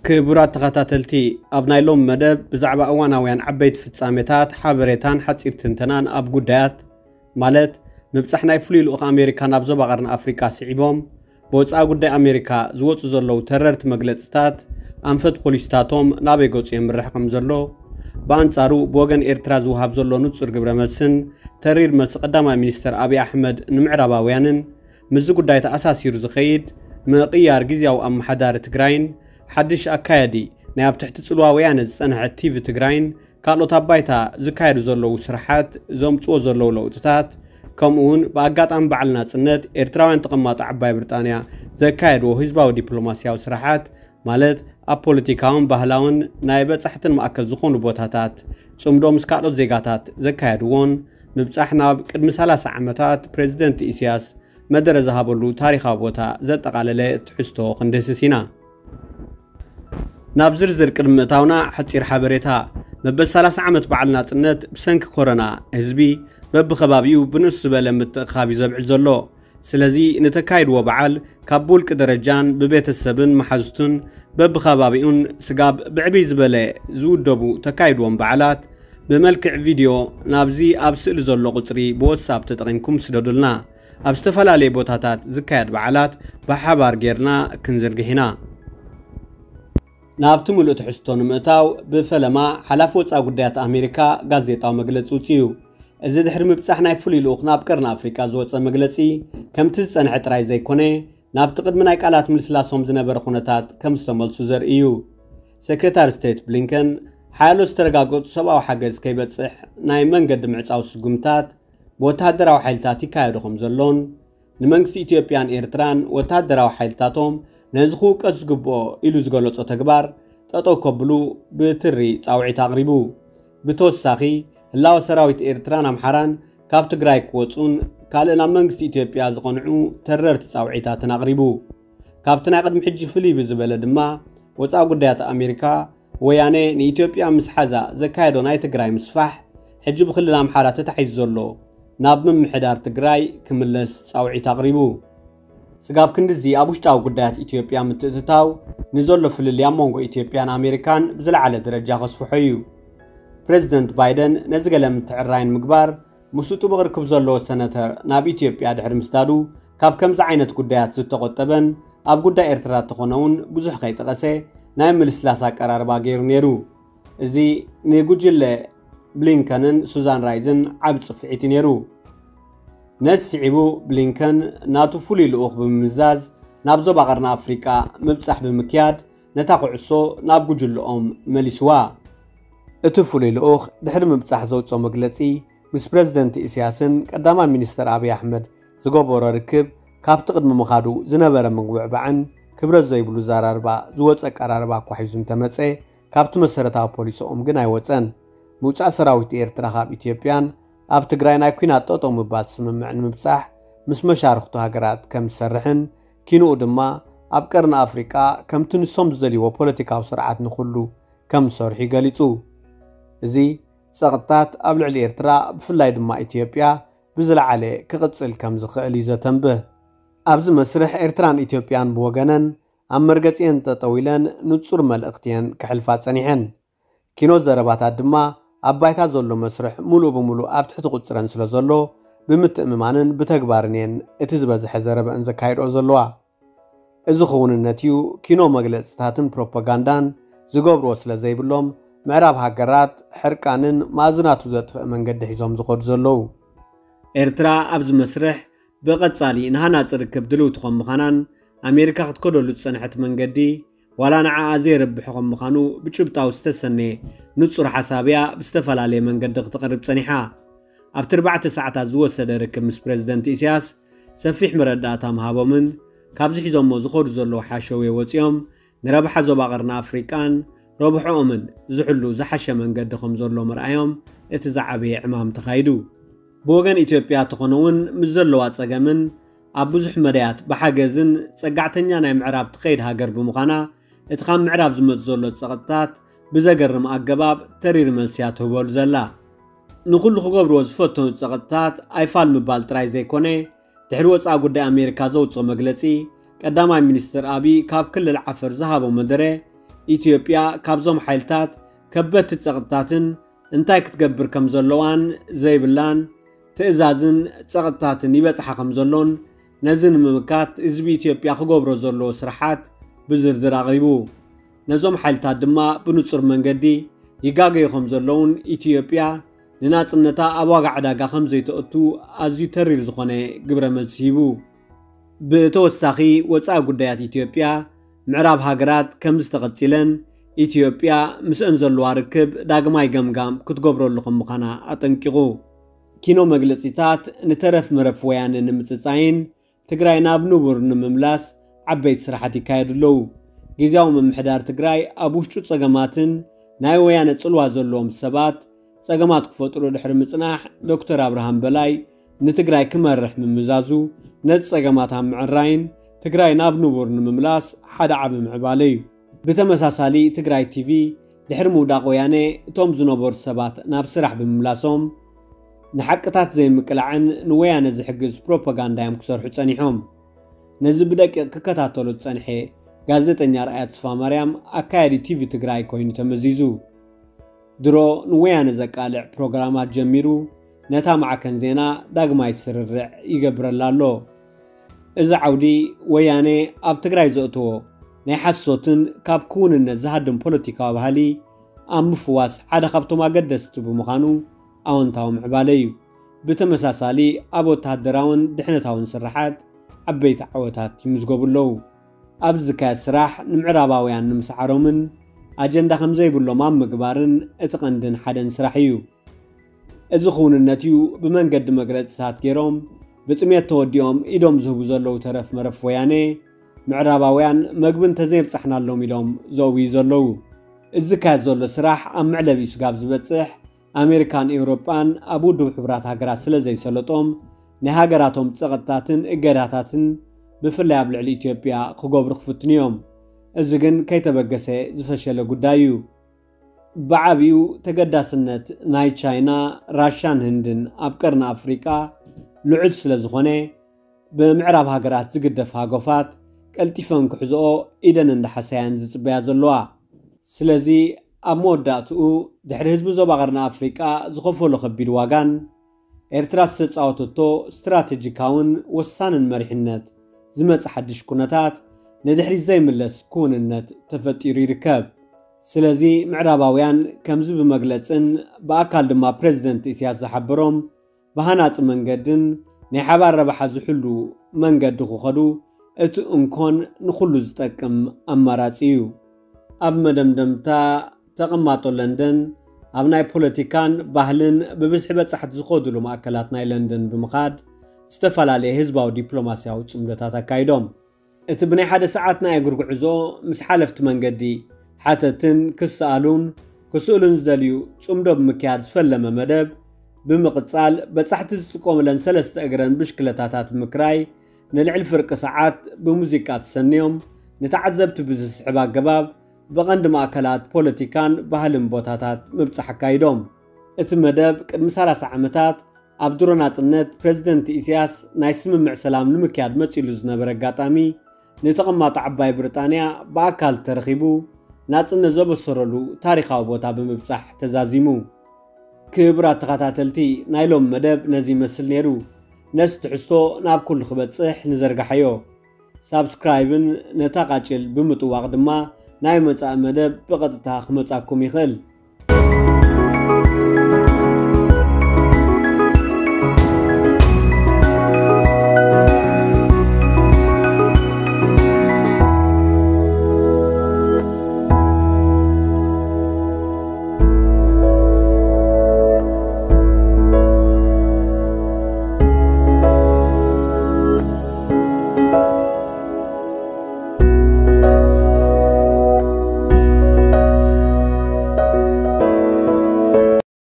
ክቡራት ተኸታተልቲ፣ ኣብ ናይ ሎም መደብ ብዛዕባ እዋናውያን ዓበይቲ ፍጻሜታት ሓበሬታን ሓጺር ትንተናን ኣብ ጉዳያት ማለት ምብጻሕ ናይ ፍሉይ ልኡኽ ኣሜሪካ ናብ ዞባ ቀርኒ ኣፍሪቃ ስዒቦም ብወጻኢ ጉዳይ ኣሜሪካ ዝወጹ ዘለዉ ተረርቲ መግለጽታት ኣንፈት ፖሊሲታቶም ናበይ ገጹ የምርሕ ከም ዘሎ፣ ብኣንጻሩ ብወገን ኤርትራ ዝወሃብ ዘሎ ንጹር ግብረ መልስን ተሪር መልሲ ቀዳማይ ሚኒስተር ኣብይ ኣሕመድ ንምዕራባውያንን ምስዚ ጉዳይ ተኣሳሲሩ ዝኸይድ ምቕያር ግዝያዊ ኣመሓዳሪ ትግራይን ሓድሽ ኣካያዲ ናይ ኣብ ትሕቲ ጽልዋ ወያነ ዝጸንሐ ቲቪ ትግራይን ካልኦት ኣብ ባይታ ዝካየዱ ዘለዉ ስራሓት ዘምጽዎ ዘለዉ ለውጥታት ከምኡ እውን ብኣጋጣሚ በዓል ናጽነት ኤርትራውያን ተቐማጦ ዓባይ ብሪጣንያ ዘካየድዎ ህዝባዊ ዲፕሎማስያዊ ስራሓት ማለት ኣብ ፖለቲካውን ባህላውን ናይ በጻሕትን ማእከል ዝኾኑ ቦታታት ጽምዶ ምስ ካልኦት ዜጋታት ዘካየድዎን ምብጻሕ ናብ ቅድሚ ሰላሳ ዓመታት ፕሬዚደንት ኢሳያስ መደረ ዝሃበሉ ታሪኻዊ ቦታ ዘጠቓለለ ትሕዝቶ ክንድህስስ ኢና። ናብ ዝርዝር ቅድሚ ምእታውና ሓጺር ሓበሬታ። መበል ሰላሳ ዓመት በዓል ናጽነት ብሰንኪ ኮሮና ህዝቢ በብኸባቢኡ ብንእስ ዝበለ ምትእኻብ እዩ ዘብዕል ዘሎ። ስለዚ ንተካይድዎ በዓል ካብ ብውልቂ ደረጃን ብቤተሰብን መሓዙቱን በብኸባቢኡን ስጋብ ብዕብይ ዝበለ ዝውደቡ ተካይድዎም በዓላት ብመልክዕ ቪድዮ ናብዚ ኣብ ስእሊ ዘሎ ቁጽሪ ብወትሳፕ ተጠቒምኩም ስደዱልና። ኣብ ዝተፈላለየ ቦታታት ዝካየድ በዓላት ብሓባር ጌርና ክንዝርግሕ ኢና። ናብቲ ምሉእ ትሕዝቶ ንምእታው ብፈለማ ሓላፊ ወጻኢ ጉዳያት ኣሜሪካ ጋዜጣዊ መግለጺ ውጽኡ። እዚ ድሕሪ ምብጻሕ ናይ ፍሉይ ልኡኽ ናብ ቀርኒ ኣፍሪቃ ዝወጸ መግለጺ ከምቲ ዝጸንሐ ጥራይ ዘይኮነ ናብቲ ቅድሚ ናይ ቃላት ምልስላሶም ዝነበረ ኩነታት ከም ዝተመልሱ ዘርኢ እዩ። ሴክሬታሪ ስቴት ብሊንከን ሓያሎ ዝተረጋገጹ ሰብኣዊ ሓገዝ ከይበጽሕ ናይ መንገዲ ምዕጻው ስጉምታት ብወተሃደራዊ ሓይልታት ይካየዱ ከም ዘሎን ንመንግስቲ ኢትዮጵያን ኤርትራን ወተሃደራዊ ሓይልታቶም ነዚ ክውቀስ ዝግብኦ ኢሉ ዝገለጾ ተግባር ጠጠው ከብሉ ብትሪ ጻውዒት ኣቕሪቡ። ብተወሳኺ ህላወ ሰራዊት ኤርትራን ኣምሓራን ካብ ትግራይ ክወጹን ካልእ ናብ መንግስቲ ኢትዮጵያ ዝቐንዑ ተረርቲ ጻውዒታትን ኣቕሪቡ። ካብቲ ናይ ቅድሚ ሕጂ ፍልይ ብዝበለ ድማ ወጻኢ ጉዳያት ኣሜሪካ ወያነ ንኢትዮጵያ ምስ ሓዛ ዘካየዶ ናይ ትግራይ ምስፋሕ ሕጂ ብክልል ኣምሓራ ተታሒዙ ዘሎ ናብ ምምሕዳር ትግራይ ክምለስ ጻውዒት ኣቕሪቡ። ስጋብ ክንድዚ ኣብ ውሽጣዊ ጉዳያት ኢትዮጵያ ምትእትታው ንዘሎ ፍልልይ ኣብ መንጎ ኢትዮጵያን ኣሜሪካን ብዝለዓለ ደረጃ ከስፍሖ እዩ። ፕሬዚደንት ባይደን ነዚ ገለ ምትዕራይ ንምግባር ምስኡ ጥቡቕ ርክብ ዘለዎ ሰነተር ናብ ኢትዮጵያ ድሕሪ ምስዳዱ ካብ ከምዚ ዓይነት ጉዳያት ዝተቖጠበን ኣብ ጉዳይ ኤርትራ ተኾነ እውን ብዙሕ ከይጠቐሰ ናይ ምልስላስ ኣቀራርባ ገይሩ ነይሩ። እዚ ንጉጅለ ብሊንከንን ሱዛን ራይዝን ዓቢ ጽፍዒት እዩ ነይሩ። ነዚ ስዒቡ ብሊንከን ናቱ ፍሉይ ልኡኽ ብምምዛዝ ናብ ዞባ ቀርኒ ኣፍሪቃ ምብጻሕ ብምክያድ ነታ ኩዕሶ ናብ ጉጅለኦም መሊስዋ። እቲ ፍሉይ ልኡኽ ድሕሪ ምብጻሕ ዘውጽኦ መግለጺ ምስ ፕረዚደንት ኢሳያስን ቀዳማይ ሚኒስተር ኣብይ ኣሕመድ ዝገበሮ ርክብ ካብቲ ቅድሚ ምኻዱ ዝነበረ ምጉብዕባዕን ክብረት ዘይብሉ ዘራርባ ዝወጸ ኣቀራርባ እኳ ሒዙ እንተመጸ ካብቲ መሰረታዊ ፖሊሲኦም ግን ኣይወጸን። ምውጻእ ሰራዊት ኤርትራ ካብ ኢትዮጵያን ኣብ ትግራይ ናይ ኲናት ጠጠው ምባል ስምምዕ ንምብጻሕ ምስ መሻርኽቱ ሃገራት ከም ዝሰርሕን ኪንኡ ድማ ኣብ ቀርኒ ኣፍሪቃ ከምቲ ንሶም ዝደልይዎ ፖለቲካዊ ስርዓት ንኹሉ ከም ዝሰርሑ ገሊጹ። እዚ ጸቕጥታት ኣብ ልዕሊ ኤርትራ ብፍላይ ድማ ኢትዮጵያ ብዝለዓለ ክቕጽል ከም ዝኽእል እዩ ዘተንብህ። ኣብዚ መስርሕ ኤርትራን ኢትዮጵያን ብወገነን ኣብ መርገጺኤን ጠጠው ኢለን ንጹር መልእኽቲ እየን ክሕልፋ ጸኒሐን። ኪኖ ዘረባታት ድማ ኣብ ባይታ ዘሎ መስርሕ ምሉእ ብምሉእ ኣብ ትሕቲ ቁጽረን ስለ ዘሎ ብምትእምማንን ብተግባርን እየን እቲ ዝበዝሐ ዘረበአን ዘካይድኦ ዘለዋ። እዚ ክውንነት እዩ ኪኖ መግለጽታትን ፕሮፓጋንዳን ዝገብርዎ ስለ ዘይብሎም ምዕራብ ሃገራት ሕርቃንን ማእዝናቱ ዘጥፍእ መንገዲ ሒዞም ዝኸዱ ዘለዉ። ኤርትራ ኣብዚ መስርሕ ብቐጻሊ ንሃናጺ ርክብ ድልውቲ ከም ምዃናን ኣሜሪካ ክትከደሉ ዝጸንሐት መንገዲ ዋላ ንዓኣ ዘይረብሕ ከም ምዃኑ ብጭብጣዊ ዝተሰነየ ንጹር ሓሳብ እያ ብዝተፈላለየ መንገዲ ክትቐርብ ጸኒሓ። ኣብቲ ኣርባዕተ ሰዓታት ዝወሰደ ርክብ ምስ ፕረዚደንት ኢሳያስ ሰፊሕ መረዳእታ ምሃቦምን ካብዚ ሒዞሞ ዝኸዱ ዘለዉ ሓሸውየ ወጺኦም ንረብሓ ዞባ ቀርኒ ኣፍሪቃን ረብሕኦምን ዝሕሉ ዝሓሸ መንገዲ ከም ዘሎ ምርኣዮም እቲ ዝዓበየ ዕማም ተኻይዱ። ብወገን ኢትዮጵያ ተኾነ እውን ምስ ዘለዋ ጸገምን ኣብ ብዙሕ መዳያት ብሓገዝን ጸጋዕተኛ ናይ ምዕራብ ትኸይድ ሃገር ብምዃና እቲ ካብ ምዕራብ ዝመጽእ ዘሎ ጸቕጥታት ብዘገርም ኣገባብ ተሪር መልሲ እያ ትህበሉ ዘላ። ንኹሉ ክገብርዎ ዝፈተኑ ጸቕጥታት ኣይፋል ምባል ጥራይ ዘይኮነ ድሕሪ ወጻኢ ጉዳይ ኣሜሪካ ዘውጽኦ መግለጺ ቀዳማይ ሚኒስትር ኣብይ ካብ ክልል ዓፈር ዝሃቦ መደረ ኢትዮጵያ ካብዞም ሓይልታት ከበድቲ ጸቕጥታትን እንታይ ክትገብር ከም ዘለዋን ዘይብላን ትእዛዝን ጸቕጥታትን ይበጽሓ ከም ዘሎን፣ ነዚ ንምምካት ህዝቢ ኢትዮጵያ ክገብሮ ዘለዎ ስራሓት ብዝርዝር ኣቕሪቡ። ነዞም ሓይልታት ድማ ብንጹር መንገዲ ይጋገዩ ከም ዘለውን፣ ኢትዮጵያ ንናጽነታ ኣብ ዋጋ ዕዳጋ ከም ዘይተእቱ ኣዝዩ ተሪር ዝኾነ ግብረ መልሲ ሂቡ። ብተወሳኺ፣ ወጻኢ ጉዳያት ኢትዮጵያ ምዕራብ ሃገራት ከም ዝተቐጺለን፣ ኢትዮጵያ ምስአን ዘለዋ ርክብ ዳግማይ ገምጋም ክትገብረሉ ከም ምዃና ኣጠንቂቑ። ኪኖ መግለጺታት ንተረፍ መረፍ ወያነ ንምጽጻይን ትግራይ ናብ ንቡር ንምምላስ ዓበይቲ ስራሓት ይካየዱ ኣለዉ። ግዝያዊ ምምሕዳር ትግራይ ኣብ ውሽጡ ጸገማትን ናይ ወያነ ጽልዋ ዘለዎም ሰባት ጸገማት ክፈጥሩ ድሕሪ ምጽናሕ፣ ዶክተር ኣብርሃም በላይ ንትግራይ ክመርሕ ምምዛዙ፣ ነቲ ጸገማት ኣብ ምዕራይን ትግራይ ናብ ንቡር ንምምላስ ሓደ ዓቢ ምዕባለ እዩ። ብተመሳሳሊ፣ ትግራይ ቲቪ ድሕሪ ምውዳቕ ወያነ፣ እቶም ዝነበሩ ሰባት ናብ ስራሕ ብምምላሶም፣ ንሓቅታት ዘይምቅላዕን ንወያነ ዝሕግዝ ፕሮፓጋንዳ እዮም ክሰርሑ ጸኒሖም። ነዚ ብደቂቕ ክከታተሎ ዝጸንሐ ጋዜጠኛ ርኣያ ተስፋማርያም፣ ኣካያዲ ቲቪ ትግራይ ኮይኑ ተመዚዙ። ድሮ ንወያነ ዘቃልዕ ፕሮግራማት ጀሚሩ፣ ነታ ማዕከን ዜና ዳግማይ ስርርዕ ይገብረላ ኣሎ። እዚ ዓውዲ፣ ወያነ ኣብ ትግራይ ዘእተዎ ናይ ሓሶትን ካብ ክውንነት ዝሃድም ፖለቲካዊ ባህሊ ኣብ ምፍዋስ ሓደ ካብቶም ኣገደስቲ ብምዃኑ፣ ኣወንታዊ ምዕባለ እዩ። ብተመሳሳሊ፣ ኣብ ወተሃደራውን ድሕነታውን ስርሓት ዓበይቲ ዓወታት ይምዝገቡ ኣለዉ። ኣብዚ ዝካየድ ስራሕ ንምዕራባውያን ንምስዓሮምን ኣጀንዳ ከም ዘይብሎም ኣብ ምግባርን እቲ ቀንድን ሓደን ስራሕ እዩ። እዚ ክውንነት እዩ ብመንገዲ መግለጺታት ገይሮም ብጥሜት ተወዲኦም ኢዶም ዝህቡ ዘለዉ ተረፍ መረፍ ወያነ፣ ምዕራባውያን መግቢ እንተዘየብጻሕናሎም ኢሎም ዘእውዩ ዘለዉ። እዚ ዝካየድ ዘሎ ስራሕ ኣብ መዕለቢኡ ስጋብ ዝበጽሕ፣ ኣሜሪካን ኤውሮጳን ኣብ ውድብ ሕቡራት ሃገራት ስለ ዘይሰለጦም፣ ናይ ሃገራቶም ጸቕጥታትን እገዳታትን ብፍላይ ኣብ ልዕሊ ኢትዮጵያ ክገብሩ ክፍትኑ እዮም። እዚ ግን ከይተበገሰ ዝፈሸለ ጉዳይ እዩ። ብዓቢኡ ተገዳስነት ናይ ቻይና፣ ራሻን ህንድን ኣብ ቀርኒ ኣፍሪቃ ልዑል ስለ ዝኾነ፣ ብምዕራብ ሃገራት ዝግደፍ ሃገፋት ቀልጢፈን ክሕዝኦ ኢደን እንዳሓሰያን ዝጽበያ ዘለዋ። ስለዚ ኣብ መወዳእትኡ ድሕሪ ህዝቢ ዞባ ቀርኒ ኣፍሪቃ ዝኸፈሎ ከቢድ ዋጋን ኤርትራ ዝተጻወተቶ ስትራተጂካውን ወሳንን መሪሕነት ዝመጽእ ሓድሽ ኩነታት ንድሕሪት ዘይምለስ ክውንነት ተፈጢሩ ይርከብ። ስለዚ ምዕራባውያን ከምዚ ብመግለጽን ብኣካል ድማ ፕረዚደንት ኢሳያስ ዝሓበሮም ብሃናጺ መንገድን ናይ ሓባር ረብሓ ዝሕሉ መንገዲ ክኸዱ እቲ እንኮን ንኹሉ ዝጠቅም ኣማራጺ እዩ። ኣብ መደምደምታ፣ ተቐማጦ ለንደን ኣብ ናይ ፖለቲካን ባህልን ብብዝሒ በጻሕቲ ዝኸዱሉ ማእከላት ናይ ለንደን ብምኻድ ዝተፈላለየ ህዝባዊ ዲፕሎማስያዊ ጽምዶታት ኣካይዶም። እቲ ብናይ ሓደ ሰዓት ናይ እግሪ ጉዕዞ ምስ ሓለፍቲ መንገዲ ሓተትን ክሰኣሉን ክስእሉን ዝደልዩ ጽምዶ ብምክያድ ዝፈለመ መደብ ብምቕጻል፣ በጻሕቲ ዝጥቀሙለን ሰለስተ እግረን ብሽክለታታት ብምክራይ ንልዕሊ ፍርቂ ሰዓት ብሙዚቃ ተሰንዮም ንተዓዘብቲ ብዝስሕብ ኣገባብ ብቐንዲ ማእከላት ፖለቲካን ባህልን ቦታታት ምብጻሕ ኣካይዶም። እቲ መደብ ቅድሚ ሰላሳ ዓመታት ኣብ ድሮ ናጽነት ፕረዚደንት ኢሳያስ ናይ ስምምዕ ሰላም ንምክያድ መጺሉ ዝነበረ ኣጋጣሚ፣ ንተቐማጦ ዓባይ ብሪጣንያ ብኣካል ተረኺቡ ናጽነት ዘበሰረሉ ታሪኻዊ ቦታ ብምብጻሕ ተዛዚሙ። ክቡራት ተኸታተልቲ፣ ናይ ሎሚ መደብ ነዚ ይመስል ነይሩ። ነዚ ትሕዝቶ ናብ ኩሉ ክበጽሕ ንዘርግሓዮ። ሳብስክራይብን ነታ ቃጭል ብምጥዋቕ ድማ ናይ መጻኢ መደብ ብቐጥታ ክመጻኩም ይኽእል።